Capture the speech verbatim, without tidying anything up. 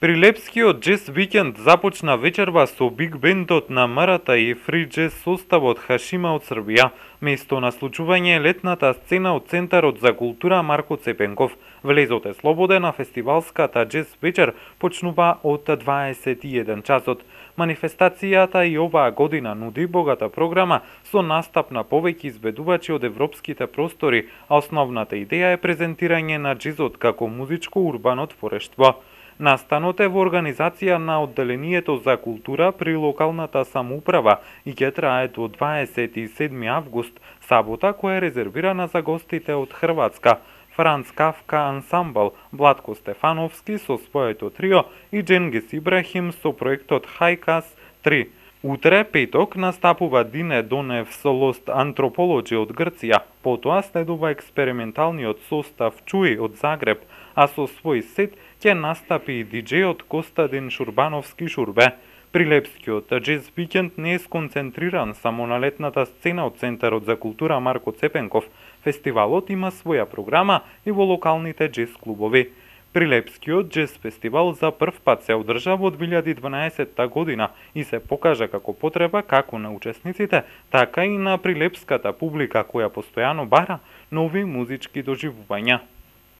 Прилепскиот джез викенд започна вечерва со биг бендот на Марата и фри джез составот Хашима од Србија. Место на случување е летната сцена од Центарот за култура Марко Цепенков. Влезот е слободен, а фестивалската джез вечер почнува од дваесет и еден часот. Манифестацијата и оваа година нуди богата програма со настап на повеќе избедувачи од европските простори, а основната идеја е презентирање на джезот како музичко-урбано творештво. Настанот е во организација на Одделението за култура при локалната самоуправа и ќе трае до дваесет и седми август, сабота, која е резервирана за гостите од Хрватска. Франц Кафка ансамбл, Владко Стефановски со своето трио и Дженгис Ибрахим со проектот Хајкас три. Утре, петок, настапува Дине Донев со Lost Anthropology од Грција, потоа следува експерименталниот состав Чуи од Загреб, а со свој сет ќе настапи и диџејот Костадин Шурбановски Шурбе. Прилепскиот джез викенд не е сконцентриран само на летната сцена од Центарот за култура Марко Цепенков. Фестивалот има своја програма и во локалните джез клубови. Прилепскиот джез фестивал за прв пат се одржа во две илјади и дванаесетта година и се покажа како потреба како на учесниците, така и на прилепската публика која постојано бара нови музички доживувања.